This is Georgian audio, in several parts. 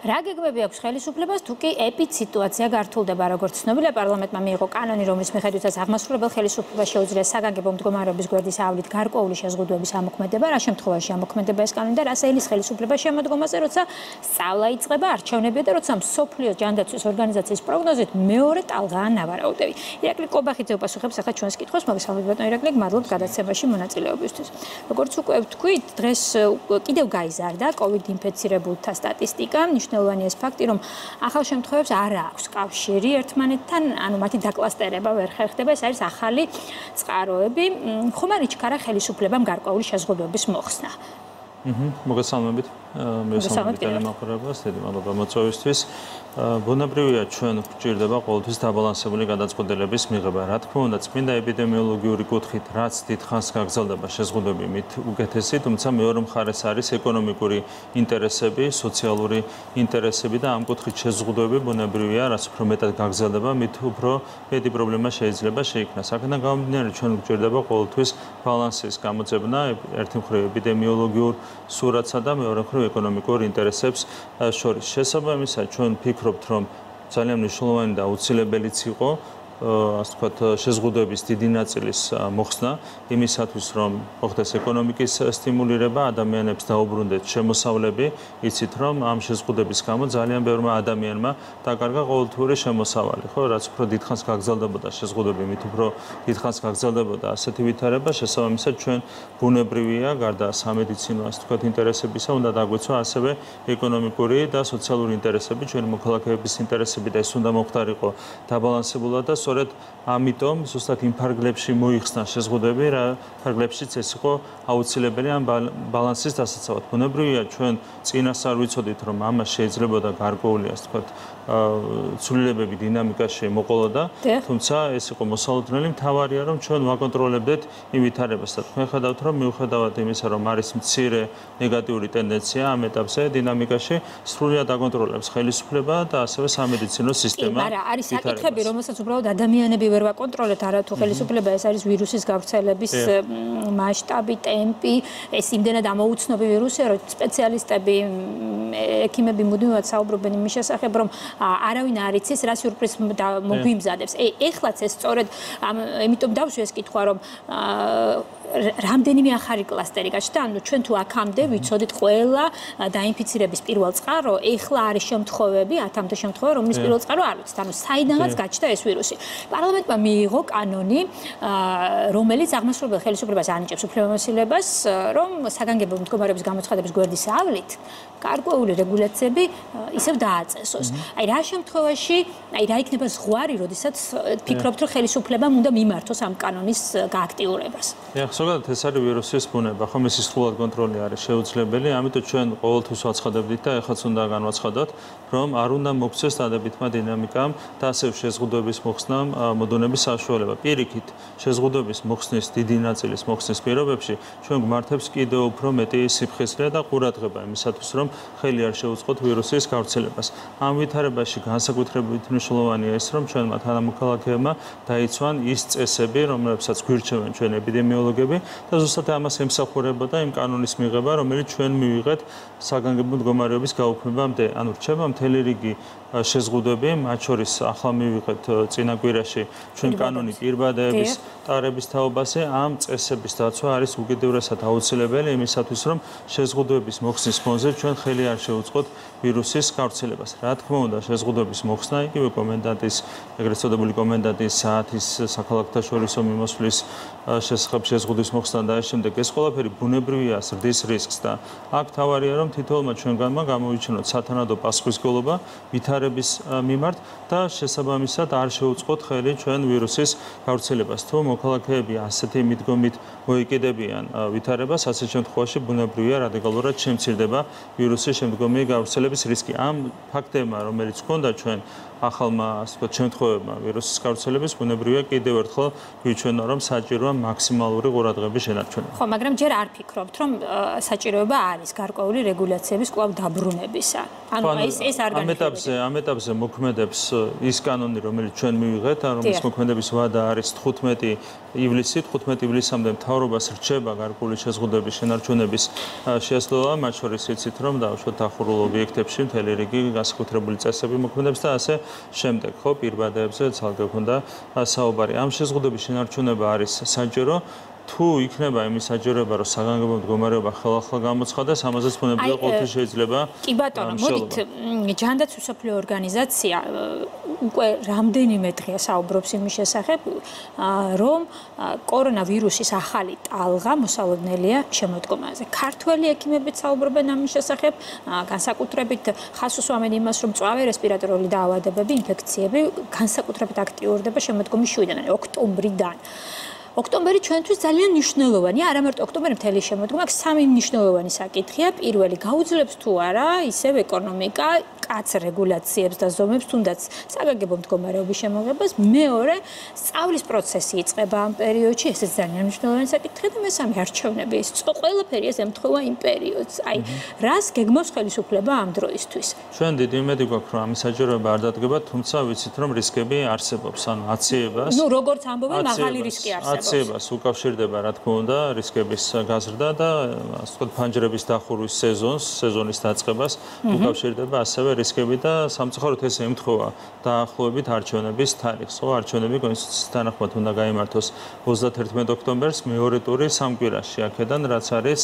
რა გეგმები აქვს ხელისუფლებას, თუ კი ეპიდსიტუაცია გართულდება, როგორც ცნობილია, პარლამენტმა მიიღო კანონი, რომლის მიხედვითაც აღმასრულებელ ხელისუფლებას შეუძლია საგანგებო მდგომარეობის გვერდის ავლით გარკვეული შეზღუდვების ამოქმედება, რა შემთხვევაში ამოქმედება ეს კანონი და რა საილის ხელისუფლება შემოდგომაზე, როცა სწავლა იწყება, არჩევნებია და როცა მსოფლიო ჯანდაცვის ორგანიზაციის პროგნოზით მეორე ტალღაა ნავარაუდები. ირაკლი კობახიძე უპასუხებს ახლა ჩვენს კითხვას, მოგესალმებით ბატონო ირაკლი, მადლობთ გადაცემაში მონაწილეობისთვის. როგორც უკვე ვთქვით, დღეს კიდევ გაიზარდა COVID ინფექცირებულთა სტატისტიკა. მნიშვნელოვანია ეს ფაქტი, რომ ახალ შემთხვევებს არ აქვს კავშირი ერთმანეთთან, ანუ მათი დაკლასტერება ვერ ხერხდება, ეს არის ახალი წყაროები. ხომ არ იჩქარა ხელისუფლებამ გარკვეული შეზღუდვების მოხსნა? მოგესალმებით. მოგესალმებით ტელემაყურებელს, დიდი მადლობა მოწვევისთვის. ბუნებრივია ჩვენ გვჭირდება ყოველთვის დაბალანსებული გადაწყვეტილების მიღება. რა თქმა უნდა, წმინდა ეპიდემიოლოგიური კუთხით, რაც დიდხანს გაგრძელდება შეზღუდვები მით უკეთესი, თუმცა მეორე მხარეს არის ეკონომიკური ინტერესები, სოციალური ინტერესები და ამ კუთხით შეზღუდვები ბუნებრივია, რაც უფრო მეტად გაგრძელდება, მით უფრო მეტი პრობლემა შეიძლება შეიქმნას. აქედან გამომდინარე, ჩვენ გვჭირდება ყოველთვის ბალანსის გამოძებნა, ერთი მხრივ ეპიდემიოლოგიურ სურათსა და მეორე მხრივ ეკონომიკურ ინტერესებს შორის. შესაბამისად, ჩვენ ვფიქრობთ, რომ ძალიან მნიშვნელოვანი და აუცილებელიც იყო ასე ვთქვათ, შეზღუდვების დიდი ნაწილის მოხსნა იმისათვის, რომ მოხდეს ეკონომიკის სტიმულირება, ადამიანებს დაუბრუნდეთ შემოსავლები, იცით, რომ ამ შეზღუდვების გამო ძალიან ბევრმა ადამიანმა დაკარგა ყოველთვიური შემოსავალი, ხო, რაც უფრო დიდხანს გაგრძელდებოდა შეზღუდვები, მით უფრო დიდხანს გაგრძელდებოდა ასეთი ვითარება, შესაბამისად ჩვენ ბუნებრივია, გარდა სამედიცინო ასე ვთქვათ ინტერესებისა, უნდა დაგვეცვა ასევე ეკონომიკური და სოციალური ინტერესები, ჩვენი მოქალაქეების ინტერესები და ეს უნდა მომხდარიყო დაბალანსებულად და სწორედ ამიტომ ზუსტად იმ ფარგლებში მოიხსნა შეზღუდვები, რა ფარგლებშიც ეს იყო აუცილებელი ამ ბალანსის დასაცავად. ბუნებრივია, ჩვენ წინასწარ ვიცოდით, რომ ამას შეიძლებოდა გარკვეული, ასე ვთქვათ, ცვლილებები დინამიკაში მოყოლოდა, თუმცა ეს იყო მოსალოდნელი, მთავარია, რომ ჩვენ ვაკონტროლებდეთ იმ ვითარებას და თქვენ ხედავთ, რომ მიუხედავად იმისა, რომ არის მცირე ნეგატიური ტენდენცია ამ ეტაპზე დინამიკაში, სრულად აკონტროლებს ხელისუფლება და ასევე სამედიცინო სისტემა. მაგრამ არის საკითხები, რომელსაც უბრალოდ ადამიანები ვერ ვაკონტროლებთ, არათუ ხელისუფლება, ეს არის ვირუსის გავრცელების მასშტაბი, ტემპი, ეს იმდენად ამოუცნობი ვირუსია, რომ სპეციალისტები, ექიმები მუდმივად საუბრობენ იმის შესახებ, რომ არავინ არ იცის, რა სიურპრიზს მოგვიმზადებს. ეხლაც ეს სწორედ ამიტომ დავშვი ეს კითხვა, რომ რამდენიმე ახალი კლასტერი გაჩნდა, ანუ ჩვენ თუ აქამდე ვიცოდით ყველა დაინფიცირების პირველ წყარო, ეხლა არის შემთხვევები, 10-მდე შემთხვევა, რომლის პირველ წყარო არ ვიცით, ანუ საიდანაც გაჩნდა ეს ვირუსი. პარლამენტმა მიიღო კანონი, რომელიც აღმასრულებელ ხელისუფლებას ანიჭებს უფლებამოსილებას, რომ საგანგებო მდგომარეობის გამოცხადების გვერდის ავლით გარკვეული რეგულაციები ისევ დააწესოს. აი რა შემთხვევაში, აი რა იქნება ზღვარი, როდესაც ფიქრობთ, რომ ხელისუფლებამ უნდა მიმართოს ამ კანონის გააქტიურებას? ზოგადად ეს არის ვირუსის ბუნება, ხომ მისი სრულად კონტროლი არის შეუძლებელი, ამიტომ ჩვენ ყოველთვის ვაცხადებდით და ეხლაც უნდა განვაცხადოთ, რომ არ უნდა მოგვცეს დადებითმა დინამიკამ და ასევე შეზღუდვების მოხსნამ მოდონების საშუალება. პირიქით, შეზღუდვების მოხსნის დიდი ნაწილის მოხსნის პირობებში ჩვენ გვმართებს კიდევ უფრო მეტი სიფხიზლე და ყურადღება იმისათვის, რომ ხელი არ შეუწყოთ ვირუსის გავრცელებას. ამ ვითარებაში განსაკუთრებით მნიშვნელოვანია ის, რომ ჩვენმა თანამოქალაქეებმა დაიცვან ის წესები, რომლებსაც გვირჩევენ ჩვენ ეპიდემიოლოგები და ზუსტად ამას ემსახურებოდა იმ კანონის მიღება, რომელიც ჩვენ მივიღეთ საგანგებო მდგომარეობის გაუქმებამდე. ანუ რჩება მთელი რიგი შეზღუდვები, მათ შორის ახლა მივიღეთ წინა კვირაში ჩვენ კანონი პირბადეების ტარების თაობაზე, ამ წესების დაცვა არის უკიდურესად აუცილებელი იმისათვის, რომ შეზღუდვების მოხსნის ფონზე ჩვენ ხელი არ შევუწყოთ ვირუსის გავრცელებას. რა თქმა უნდა, შეზღუდვების მოხსნა, იგივე კომენდანტის, ეგრეთ წოდებული კომენდანტის საათის საქალაქთაშორისო მიმოსვლის შესახებ შეზღუდვის მოხსნა და ამ შემდეგ ეს ყველაფერი ბუნებრივია ზრდის რისკს და აქ თავარია, რომ თითოეულმა ჩვენგანმა გამოვიჩინოთ სათანადო პასუხისმგებლობა ვითარების მიმართ და შესაბამისად არ შეუწყოთ ხელი ჩვენ ვირუსის გავრცელებას. თუ მოქალაქეები ასეთი მიდგომით მოიკიდებიან ვითარებას, ასეთ შემთხვევაში ბუნებრივია რადიკალურად შემცირდება ვირუსის შემდგომი გავრცელების რისკი. ამ ფაქტებმა, რომელიც ჰქონდა ჩვენ ახალმა შემთხვევებმა ვირუსის გავრცელების ბუნებრივია კიდევ ერთხელ გვიჩვენა რომ საჭიროა მაქსიმალური ყურადღების შენარჩუნება. ხო, მაგრამ ჯერ არ ფიქრობთ რომ საჭიროება არის გარკვეული რეგულაციების კვლავ დაბრუნებისა. ანუ ეს არ განიხილება. ამ ეტაპზე მოქმედებს ის კანონი, რომელიც ჩვენ მივიღეთ, რომლის მოქმედების ვადა არის 15 ივლისი, 15 ივლისამდე მთავრობას რჩება გარკვეული შეზღუდვების შენარჩუნების შესაძლებლობა, მათ შორის იცით რომ დავუშვათ დახურულ ობიექტებში მთელი რიგი განსაკუთრებული წესები მოქმედებს და ასე შემდეგ, ხო, პირბადეებზე ცალკე ქონდა საუბარი. ამ შეზღუდვების შენარჩუნება არის საჭირო თუ იქნება იმის საჭიროება, რომ საგანგებო მდგომარეობა ხელახლა გამოცხადდეს, ამაზეც ბუნებრივია ყოველთვის შეიძლება. კი ბატონო, მოდით ჯანდაცვის მსოფლიო ორგანიზაცია უკვე რამდენიმე დღეა საუბრობს იმის შესახებ, რომ კორონავირუსის ახალი ტალღა მოსალოდნელია შემოდგომაზე. ქართველი ექიმებიც საუბრობენ ამის შესახებ, განსაკუთრებით ხაზს უსვამენ იმას, რომ მწვავე რესპირატორული დაავადებები, ინფექციები განსაკუთრებით აქტიურდება შემოდგომის შუიდან, ოქტომბრიდან. ოქტომბერი ჩვენთვის ძალიან მნიშვნელოვანია, არა მარტო ოქტომბერი მთელი შემოდგომა, აქ სამი მნიშვნელოვანი საკითხია. პირველი, გაუძლებს თუ არა ისევ ეკონომიკა კაც რეგულაციებს და ზომებს, თუნდაც საგანგებო მდგომარეობის შემოღებას. მეორე, სწავლის პროცესი იწყება ამ პერიოდში, ესეც ძალიან მნიშვნელოვანი საკითხია და მესამე, არჩევნები. ეს ყველაფერი ეს ემთხვევა იმ პერიოდს. აი, რას გეგმავს ხელისუფლება ამ დროისთვის? ჩვენ დიდი იმედი გვაქვს, რომ ამის საჭიროება არ დადგება, თუმცა ვიცით, რომ რისკები არსებობს, ანუ აციებას. ნუ როგორც ამბობენ, მაღალი რისკი არსებობს. აციებას უკავშირდება, რა თქმა უნდა, რისკების გაზრდა და ასე ვთქვათ, ფანჯრების დახურვის სეზონის დაწყებას უკავშირდება ასევე რისკები და სამწუხაროდ ეს ემთხვევა დაახლოებით არჩევნების თარიღს. ხო, არჩევნები კონსტიტუციის თანახმად უნდა გაიმართოს 31 ოქტომბერს, მეორე ტური სამ კვირაში აქედან, რაც არის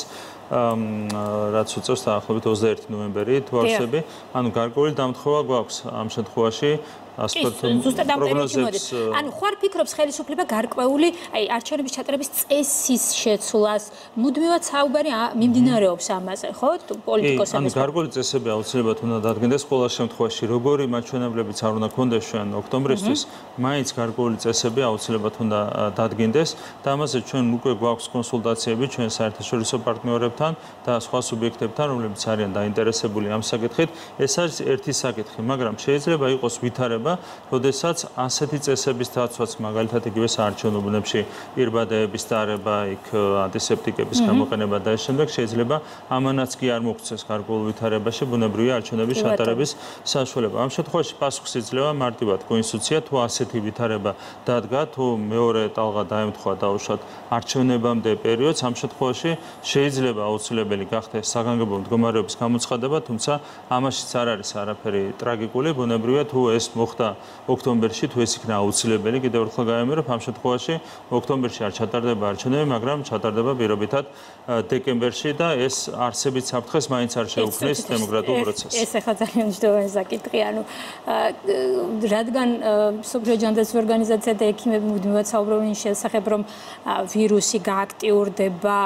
რაც უწევს დაახლოებით 21 ნოემბერი თუ არსები. ანუ გარკვეული დამთხოვა გვაქვს ამ შემთხვევაში. ზუსტად ამ პერიოდში მოდის. ანუ ხوار ფიქრობს ხელისუფლება გარკვეული, აი არჩევნების ჩატარების წესის შეცვლას, მუდმივად საუბარი მიმდინარეობს ამაზე, ხო? პოლიტიკოსების. ანუ გარკვეული წესები აუცილებლად უნდა დადგენდეს ყველა შემთხვევაში, როგორი მაჩვენებლებიც არ უნდა კონდეს ჩვენ ოქტომბრისთვის, მაინც გარკვეული წესები აუცილებლად უნდა დადგენდეს და ამაზე ჩვენ უკვე გვაქვს კონსულტაციები ჩვენ საერთაშორისო პარტნიორებთან და სხვა სუბიექტებთან, რომლებიც არიან დაინტერესებული ამ საკითხით. ეს არის ერთი საკითხი, მაგრამ შეიძლება იყოს ვითარება როდესაც ასეთი წესების დაცვაც მაგალითად იგივე საარჩევნო ბუნებში პირბადეების დარება, იქ ანტისეპტიკების გამოყენება და ეს შემდეგ შეიძლება ამანაც კი არ მოგვცეს გარკვეულ ვითარებაში ბუნებრივია არჩევნების ჩატარების საშუალება. ამ შემთხვევაში პასუხს იძლევა მარტივად კონსტიტუცია, თუ ასეთი ვითარება დადგა, თუ მეორე ტალღა დაემთხვა დაუშვათ არჩევნებამდე პერიოდს, ამ შემთხვევაში შეიძლება აუცილებელი გახდეს საგანგებო მდგომარეობის გამოცხადება, თუმცა ამაშიც არ არის არაფერი ტრაგიკული, ბუნებრივია თუ ეს მოხდა ოქტომბერში, თუ ეს იქნა აუცილებელი, კიდევ ერთხელ გაემეორებ, ამ შემთხვევაში ოქტომბერში არ ჩატარდება არჩევნები, მაგრამ ჩატარდება პირობითად დეკემბერში და ეს არსებით საფრთხეს მაინც არ შეუქმნის დემოკრატიულ პროცესს. ეს ახლა ძალიან მნიშვნელოვანი საკითხია, ანუ რადგან მსოფლიო ჯანდაცვის ორგანიზაცია და ექიმები მუდმივად საუბრობენ იმ შესახებ, რომ ვირუსი გააქტიურდება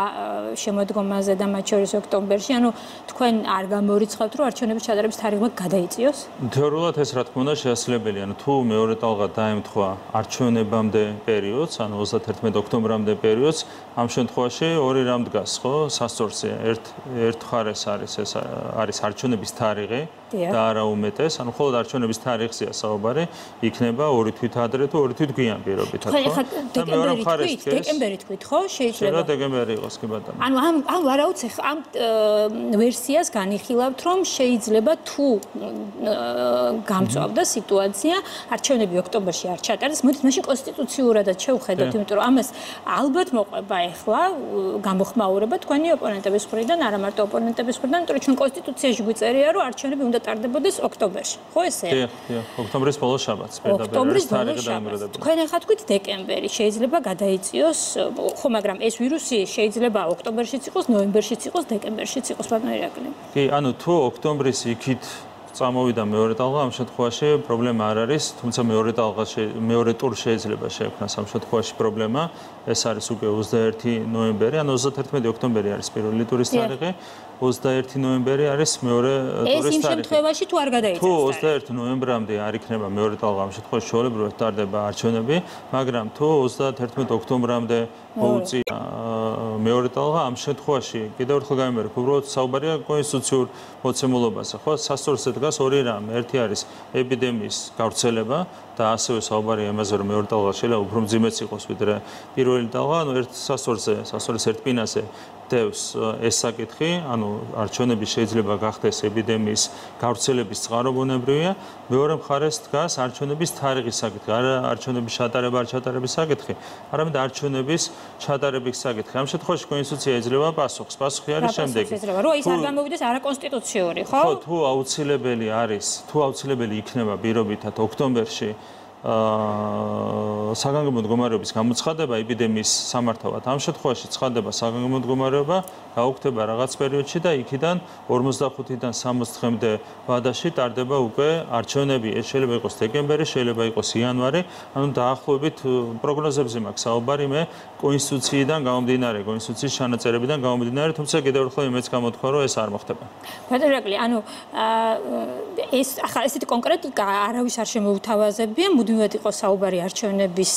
შემოდგომაზე და მათ შორის ოქტომბერში, ანუ თქვენ არ გამორიცხავთ, რომ არჩევნების ჩატარების თარიღმა გადაიწიოს? თეორიულად ეს რა თქმა უნდა შესაძლებელია, ანუ თუ მეორე ტალღა დაემთხვა არჩევნებამდე პერიოდს, ანუ 31 ოქტომბრამდე პერიოდს, ამ შემთხვევაში ორი რამ დგას, ხო? სასწორზე ერთ მხარეს არის ეს არის არჩევნების თარიღი და არა უმეტეს, ანუ მხოლოდ არჩევნების თარიღზეა საუბარი, იქნება ორი თვით ადრე თუ ორი თვით გვიან პირობითად, ხო? და მეორე მხარეს დეკემბერი თქვით, ხო? შეიძლება დეკემბერი იყოს კი ბატონო. ანუ ამ ვარაუდს ამ ვერსიას განიხილავთ, რომ შეიძლება თუ გამწვავდა სიტუაცია, არჩევნები ოქტომბერში არ ჩატარდეს, მოდით მაშინ კონსტიტუციურადაც შევხედოთ, იმიტომ რომ ამას ალბათ მოყვება ახლა გამოხმაურება თქვენი ოპონენტების მხრიდან, არა მარტო ოპონენტების მხრიდან, იმიტომ რომ ჩვენ კონსტიტუციაში გვიწერია, რომ არჩევნები უნდა ტარდებოდეს ოქტომბერში. ხო ესეა? დიახ, ოქტომბრის ბოლო შაბათს პირდაპირ თარიღი დაიმკვიდრებოდა. თქვენ ახლა თქვით დეკემბერი, შეიძლება გადაიწიოს, ხო, მაგრამ ეს ვირუსი შეიძლება ოქტომბერშიც იყოს, ნოემბერშიც იყოს, დეკემბერშიც იყოს, ბატონო ირაკლი. კი, ანუ თუ ოქტომბრის იქით წამოვიდა მეორე ტალღა, ამ შემთხვევაში პრობლემა არ არის, თუმცა მეორე ტურ შეიძლება შეექმნას ამ შემთხვევაში პრობლემა. ეს არის უკვე 21 ნოემბერი, ანუ 31 ოქტომბერი არის პირველი ტურის თარიღი, 21 ნოემბერი არის მეორე ტურის თარიღი. ეს იმ შემთხვევაში თუ არ გადაიწევს. თუ 21 ნოემბრამდე არ იქნება მეორე ტალღა, ამ შემთხვევაში ჩვეულებრივად ტარდება არჩევნები, მაგრამ თუ 31 ოქტომბრამდე მოუწია მეორე ტალღა ამ შემთხვევაში კიდევ ერთხელ გამიმერებ, უბრალოდ საუბარია კონსტიტუციურ მოცემულობაზე, ხო? სასწორზე დგას ორი რამ. ერთი არის ეპიდემიის გავრცელება და ასევე საუბარია იმაზე, რომ მეორე ტალღა შეიძლება უფრო მძიმეც იყოს ვიდრე პირველი ტალღა, ანუ ერთ სასწორის ერთ პინაზე დევს ეს საკითხი, ანუ არჩევნები შეიძლება გახდეს ეპიდემიის გავრცელების წყარო ბუნებრივია, მეორე მხარეს დგას არჩევნების თარიღის საკითხი, არა არჩევნების ჩატარება არ ჩატარების საკითხი, არამედ არჩევნების ჩატარების საკითხი. ამ შემთხვევაში კონსტიტუცია ეძლევა პასუხს. პასუხი არის შემდეგი. რომ ის არ გამოვიდეს არაკონსტიტუციური, ხო? ხო, თუ აუცილებელი იქნება პირობითად ოქტომბერში საგანგებო მდგომარეობის გამოცხადება ეპიდემიის სამართავად. ამ შემთხვევაში ცხადდება საგანგებო მდგომარეობა, გაუქმდება რაღაც პერიოდში და იქიდან 45-დან 60 დღემდე ვადაში ტარდება უკვე არჩევნები. ეს შეიძლება იყოს დეკემბერი, შეიძლება იყოს იანვარი, ანუ დაახლოებით პროგნოზებზე მაქვს საუბარი მე კონსტიტუციიდან გამომდინარე, კონსტიტუციის ჩანაწერებიდან გამომდინარე, თუმცა კიდევ ერთხელ იმეც გამოთქვა, რომ ეს არ მოხდება. ბატონო ირაკლი, ანუ ეს ახლა ესეთი კონკრეტიკა არავის არ შემოუთავაზებია, მუდმივად იყო საუბარი არჩევნების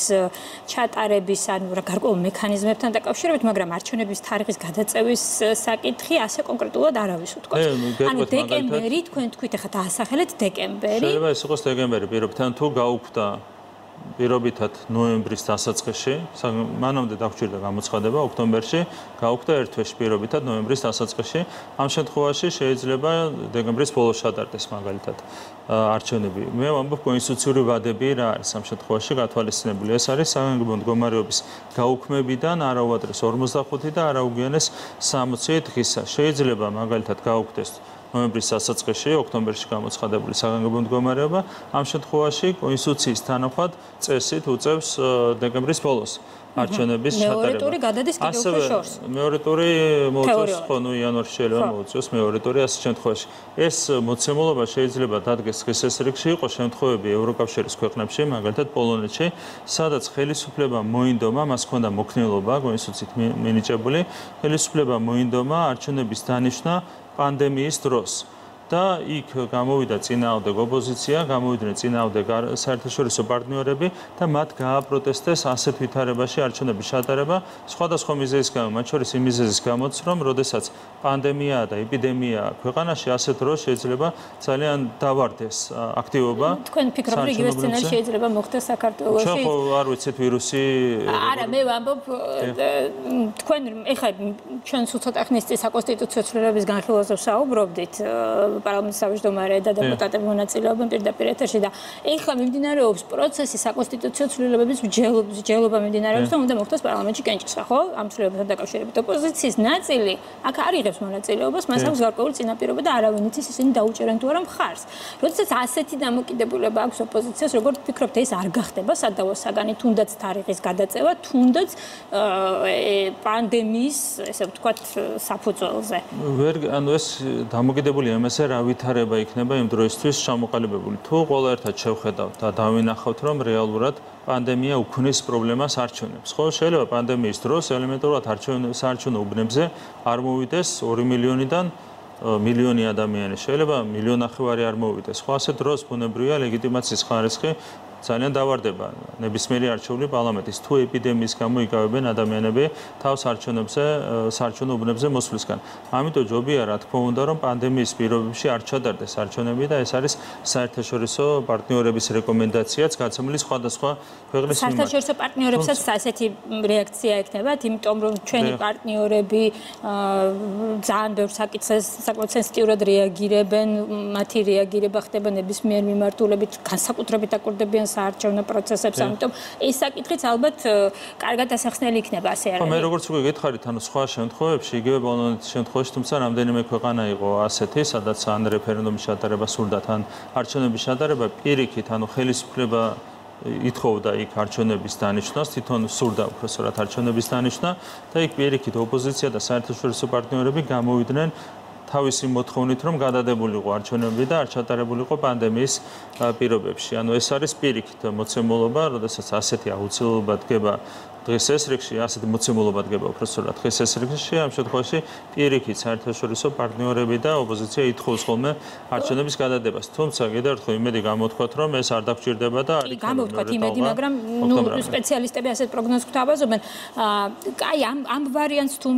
ჩატარების, ანუ გარკვეულ მექანიზმებთან დაკავშირებით, მაგრამ არჩევნების თარიღის გადაწევის საკითხი ასე კონკრეტულად არავის უთქვა. ანუ დეკემბერი, თქვენ თქვით, ახლა დაასახელეთ დეკემბერი. შეიძლება ეს იყოს დეკემბერი, პირობითად თუ გაუქმდა პირობითად ნოემბრის დასაწყისში, მანამდე დაგვჭირდა გამოცხადება ოქტომბერში, გაუქმდა ერთ თვეში პირობითად ნოემბრის დასაწყისში. ამ შემთხვევაში შეიძლება დეკემბრის ბოლოს ჩატარდეს მაგალითად არჩევნები. მე ვამბობ კონსტიტუციური ვადები რა არის ამ შემთხვევაში გათვალისწინებული. ეს არის საგანგებო მდგომარეობის გაუქმებიდან არა უადრეს 45 და არა უგვიანეს 60 დღისა. შეიძლება მაგალითად გაუქმდეს ნოემბრის დასაწყისში, ოქტომბერში გამოცხადებული საგანგებო მდგომარეობა. ამ შემთხვევაში კონსტიტუციის თანახმად წესით უწევს დეკემბრის ბოლოს არჩევნების ჩატარება. მეორე ტური გადადის კიდევ უფრო შორს. მეორე ტური მოუწევს, ხო, ნუ იანვარში შეიძლება მოუწევს მეორე ტური ასეთ შემთხვევაში. ეს მოცემულობა შეიძლება დადგეს დღის ესრიგში, იყო შემთხვევები ევროკავშირის ქვეყნებში, მაგალითად პოლონეთში, სადაც ხელისუფლება მოინდომა, მას ჰქონდა მოქნილობა კონსტიტუციით მინიჭებული, ხელისუფლება მოინდომა არჩევნების დანიშვნა პანდემიის დროს. და იქ გამოვიდა წინააღმდეგ ოპოზიცია, გამოვიდნენ წინააღმდეგ საერთაშორისო პარტნიორები და მათ გააპროტესტეს ასეთ ვითარებაში არჩევნების ჩატარება სხვადასხვა მიზეზის გამო, მათ შორის იმ მიზეზის გამოც, რომ როდესაც პანდემიაა და ეპიდემიაა ქვეყანაში, ასეთ დროს შეიძლება ძალიან დავარდეს აქტივობა. თქვენ ფიქრობთ, რომ იგივე სცენარი შეიძლება მოხდეს საქართველოში? ჩვენ ხო არ ვიცით ვირუსი. არა, მე ვამბობ, თქვენ ეხლა ჩვენ ცოტა ხნის წინ საკონსტიტუციო ცვლილებების განხილვაზე ვსაუბრობდით. პარლამენტის თავმჯდომარე და დეპუტატები მონაწილეობენ პირდაპირ ეთერში და ეხლა მიმდინარეობს პროცესი საკონსტიტუციო ცვლილებების მსჯელობა მიმდინარეობს და უნდა მოხდეს პარლამენტში კენჭისყრა, ხო? ამ ცვლილებასთან დაკავშირებით ოპოზიციის ნაწილი აქ არ იღებს მონაწილეობას, მას აქვს გარკვეული წინაპირობა და არავინ იცის ისინი დაუჭერენ თუ არა მხარს. როდესაც ასეთი დამოკიდებულება აქვს ოპოზიციას, როგორ ფიქრობთ, ეს არ გახდება სადავო საგანი, თუნდაც თარიღის გადაწევა, თუნდაც პანდემიის, ესე ვთქვათ, საფუძველზე? ანუ ეს დამოკიდებულია იმაზე, რა ვითარება იქნება იმ დროისთვის ჩამოყალიბებული. თუ ყველა ერთად შევხედავთ და დავინახავთ, რომ რეალურად პანდემია უქმნის პრობლემას არჩევნებს. ხო, შეიძლება პანდემიის დროს ელემენტარულად საარჩევნო უბნებზე არ მოვიდეს 2 მილიონიდან მილიონი ადამიანი, შეიძლება 1,5 მილიონი არ მოვიდეს. ხო, ასეთ დროს ბუნებრივია ლეგიტიმაციის ხარისხი ძალიან დავარდება ნებისმიერი არჩეული პარლამენტის. თუ ეპიდემიის გამო იკავებენ ადამიანები თავს საარჩევნო უბნებზე მოსვლისგან. ამიტომ ჯობია, რა თქმა უნდა, რომ პანდემიის პირობებში არ ჩატარდეს არჩევნები და ეს არის საერთაშორისო პარტნიორების რეკომენდაციაც გაცემული სხვადასხვა ქვეყნის მიმართ. საერთაშორისო პარტნიორებსაც ასეთი რეაქცია ექნებათ, იმიტომ რომ ჩვენი პარტნიორები ძალიან ბევრ საკითხს საკმაოდ სენსიტიურად რეაგირებენ, მათი რეაგირება ხდება ნებისმიერ მიმართულებით, განსაკუთრებით აკურდებიან საარჩევნო პროცესებს, ამიტომ ეს საკითხიც ალბათ კარგად ასახსნელი იქნება, ასე არ არის? მე როგორც უკვე გითხარით, ანუ სხვა შემთხვევებში, იგივე პოლონეთის შემთხვევაში, თუმცა რამდენიმე ქვეყანა იყო ასეთი, სადაც ან რეფერენდუმის ჩატარება სურდათ, ან არჩევნების ჩატარება პირიქით, ანუ ხელისუფლება ითხოვდა იქ არჩევნების დანიშვნას, თვითონ სურდა უпроსორად არჩევნების დანიშვნა და იქ პირიქით ოპოზიცია და საერთაშორისო პარტნიორები გამოვიდნენ თავისი მოთხოვნით, რომ გადადებულიყო არჩევნები და არ ჩატარებულიყო პანდემიის პირობებში. ანუ ეს არის პირიქით მოცემულობა, როდესაც ასეთი აუცილებლობა დგება დღის ეს რიგში ასეთი მოცემულობა დგება უფრო სწორად დღის ეს რიგში ამ შემთხვევაში პირიქით საერთაშორისო პარტნიორები და ოპოზიცია ითხოვს ხოლმე არჩევნების გადადებას. თუმცა კიდევ ერთხელ იმედი გამოვთქვათ, რომ ეს არ დაგჭირდება და არ იქნება. გამოვთქვათ იმედი, მაგრამ სპეციალისტები ასეთ პროგნოზს გვთავაზობენ. აი ამ ვარიანტს თუ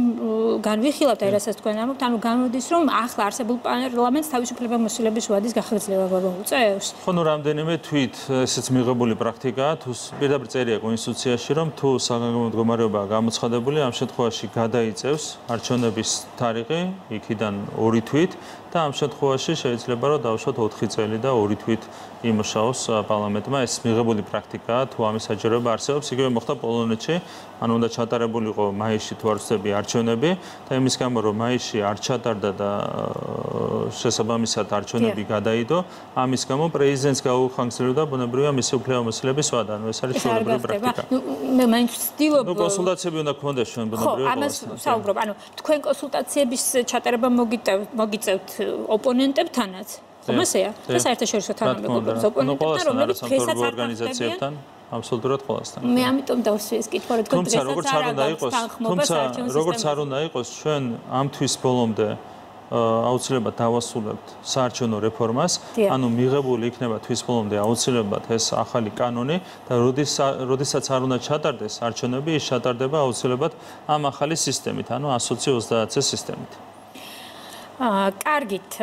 განვიხილავთ, აი რასაც თქვენ ამბობთ, ანუ გამოდის, რომ ახლა არსებულ პარლამენტს თავისუფლებამოსილების ვადის გახერხება მოუწევს. ხო, ნუ რამდენიმე თვით ესეც მიღებული პრაქტიკაა, თუ პირდაპირ წერია კონსტიტუციაში, რომ თუ საგანგებო მდგომარეობაა გამოცხადებული, ამ შემთხვევაში გადაიწევს არჩევნების თარიღი, იქიდან 2 თვით და ამ შემთხვევაში შეიძლება რომ დავუშვათ 4 წელი და 2 თვით იმუშაოს პარლამენტმა. ეს მიღებული პრაქტიკაა, თუ ამის საჭიროება არსებობს, იგივე მოხდა პოლონეთში, ანუ უნდა ჩატარებულიყო მაისში თუ არ ვცდები არჩევნები და იმის გამო რომ მაისში არ ჩატარდა და შესაბამისად არჩევნები გადაიდო, ამის გამო პრეზიდენტს გაუხანგრძლივდა ბუნებრივია მისი უფლებამოსილების ვადა. ანუ ეს არის ჩვეულებრივი პრაქტიკა. მე მაინც ვცდილობ კონსულტაციები უნდა გქონდეს ჩვენ ბუნებრივია. ხო, ამას საუბრობ. ანუ თქვენ კონსულტაციების ჩატარება მოგიწევთ ოპონენტებთანაც. ხომასეა? და საერთაშორისო თანამეგობრობის ოპონენტებთან, რომლებიც დღესაც არ ორგანიზაციებთან აბსოლუტურად ყველასთან. მე ამიტომ დავსვი ეს კითხვა, რომ თუმცა როგორც არ უნდა იყოს, ჩვენ ამ თვის ბოლომდე აუცილებლად დავასრულებთ საარჩევნო რეფორმას, ანუ მიღებული იქნება თვის ბოლომდე აუცილებლად ეს ახალი კანონი და როდესაც არ უნდა ჩატარდეს არჩევნები, ის ჩატარდება აუცილებლად ამ ახალი სისტემით, ანუ 120-30 სისტემით. კარგით,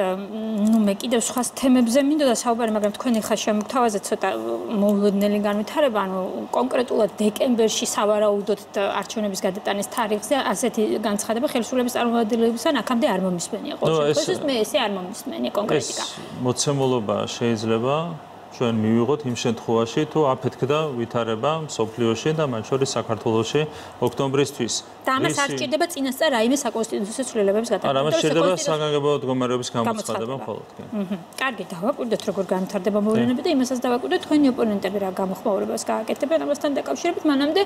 მე კიდევ სხვა თემებზე მინდოდა საუბარი, მაგრამ თქვენი ხა შემოგთავაზეთ ცოტა მოულოდნელი განვითარება, ანუ კონკრეტულად დეკემბერში სავარაუდოდ არჩევნების გადატანის თარიღზე ასეთი განცხადება ხელისუფლების წარმომადგენლებისგან აქამდე არ მომისმენია ყოველ შემთხვევაში, მე ესე არ მომისმენია კონკრეტიკა. ეს მოცემულობა შეიძლება ჩვენ მივიღოთ იმ შემთხვევაში, თუ აფეთქდა ვითარება მსოფლიოში და მათ შორის საქართველოში ოქტომბრისთვის. და ამას არ სჭირდება წინასწარ რაიმე საკონსტიტუციო ცვლილებების გატარება. არა, ამას სჭირდება საგანგებო მდგომარეობის გამოცხადება მხოლოდ. კარგი, დავაკვირდეთ როგორ განვითარდება მოვლენები და იმასაც დავაკვირდეთ თქვენი ოპონენტები რა გამოხმაურებას გააკეთებენ ამასთან დაკავშირებით, მანამდე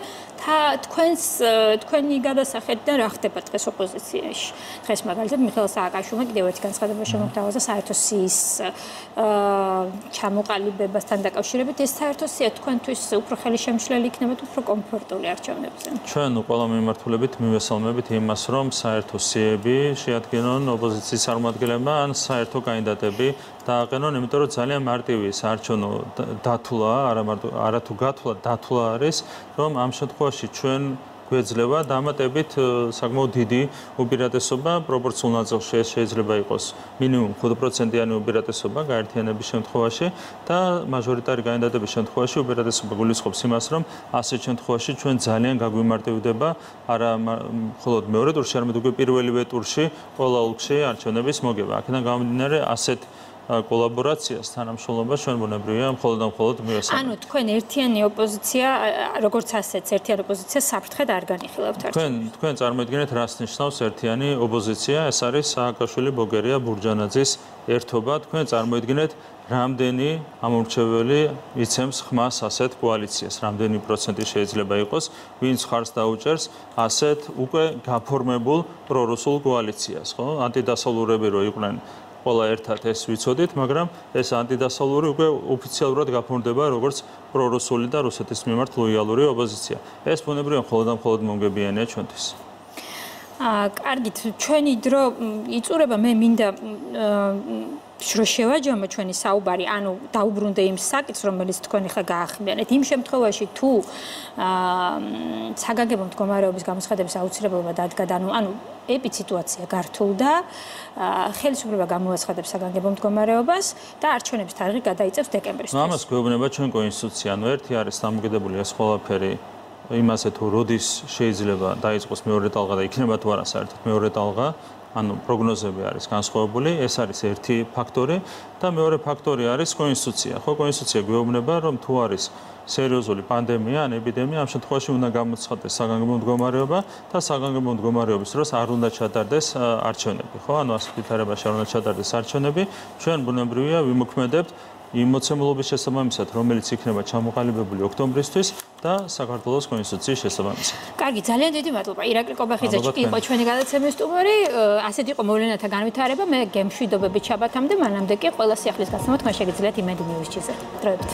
თქვენი გადასახედიდან რა ხდება დღეს ოპოზიციაში. დღეს მაგალითად მიხეილ სააკაშვილმა კიდევ ერთი განცხადება შემოგთავაზა საერთო სიის ჩამოყალიბებასთან დაკავშირებით. ეს საერთო სია თქვენთვის უფრო ხელშემშლელი იქნება თუ უფრო კომფორტული არჩევნებზე? ჩვენ ყველა მიმართულებით მივესალმებით იმას, რომ საერთო სიები შეადგენონ ოპოზიციის წარმომადგენლებმა ან საერთო კანდიდატები დააყენონ, იმიტომ რომ ძალიან მარტივი საარჩევნო დათვლა, არა თუ გათვლა, დათვლა არის, რომ ამ შემთხვევაში ჩვენ გვეძლევა დამატებით საკმაოდ დიდი უპირატესობა პროპორციულ ნაწილში ეს შეიძლება იყოს მინიმუმ 5%-იანი უპირატესობა გაერთიანების შემთხვევაში და მაჟორიტარი კანდიდატების შემთხვევაში უპირატესობა გულისხმობს იმას, რომ ასეთ შემთხვევაში ჩვენ ძალიან გაგვიმარტივდება არა მხოლოდ მეორე ტურში, არამედ უკვე პირველივე ტურში ყველა ოლქში არჩევნების მოგება. აქედან გამომდინარე ასეთ კოლაბორაციას თანამშრომლობას ჩვენ ბუნებრივია მხოლოდ და მხოლოდ მივესალმებით. ანუ თქვენ ერთიანი ოპოზიცია, როგორც ასეც ერთიანი ოპოზიცია საფრთხედ არ განიხილავთ არჩევნებს. თქვენ წარმოიდგინეთ რას ნიშნავს ერთიანი ოპოზიცია, ეს არის სააკაშვილი, ბოგერია, ბურჯანაძის ერთობა. თქვენ წარმოიდგინეთ რამდენი ამორჩეველი იცემს ხმას ასეთ კოალიციას, რამდენი პროცენტი შეიძლება იყოს, ვინც ხარს დაუჭერს ასეთ უკვე გაფორმებულ პრორუსულ კოალიციას, ხო? ანტიდასავლურები რო იყვნენ ყველა ერთად ეს ვიცოდით, მაგრამ ეს ანტიდასავლური უკვე ოფიციალურად გაფორმდება როგორც პრორუსული და რუსეთის მიმართ ლოიალური ოპოზიცია. ეს ბუნებრივია მხოლოდ და მხოლოდ მომგებიანია ჩვენთვის. კარგით, ჩვენი დრო იწურება, მე მინდა რომ შევაჯამო ჩვენი საუბარი, ანუ დაუბრუნდე იმ საკითხს, რომელიც თქვენ ხა გაახმიანეთ. იმ შემთხვევაში, თუ საგანგებო მდგომარეობის გამოცხადების აუცილებლობა დადგა, ანუ ეპიციტუაცია გართულდა, ხელისუფლება გამოაცხადებს საგანგებო მდგომარეობას და არჩევნების თარიღი გადაიწევს დეკემბრის. ამას გვეუბნება ჩვენ კონსტიტუცია, ანუ ერთი არის დამოკიდებული ეს ყველაფერი იმაზე, თუ როდის შეიძლება დაიწყოს მეორე ტალღა და იქნება თუ არა საერთოდ მეორე ტალღა. ანუ პროგნოზები არის განსხვავებული, ეს არის ერთი ფაქტორი და მეორე ფაქტორი არის კონსტიტუცია. ხო, კონსტიტუცია გვეუბნება, რომ თუ არის სერიოზული პანდემია ან ეპიდემია, ამ შემთხვევაში უნდა გამოცხადდეს საგანგებო მდგომარეობა და საგანგებო მდგომარეობის დროს არ უნდა ჩატარდეს არჩევნები. ხო, ანუ ასეთ ვითარებაში არ უნდა ჩატარდეს არჩევნები. ჩვენ ბუნებრივია ვიმოქმედებთ იმ მოცემულობის შესაბამისად, რომელიც იქნება ჩამოყალიბებული ოქტომბრისთვის და საქართველოს კონსტიტუციის შესაბამისად. კარგი, ძალიან დიდი მადლობა. ირაკლი კობახიძე იყო ჩვენი გადაცემის სტუმარი. ასეთ იყო მოვლენათა განვითარება. მე გემშვიდობებით შაბათამდე, მანამდე კი ყველა სიახლის გასამოთ, მას შეგიძლიათ იმედი ნიუზ-ზე. დროებით.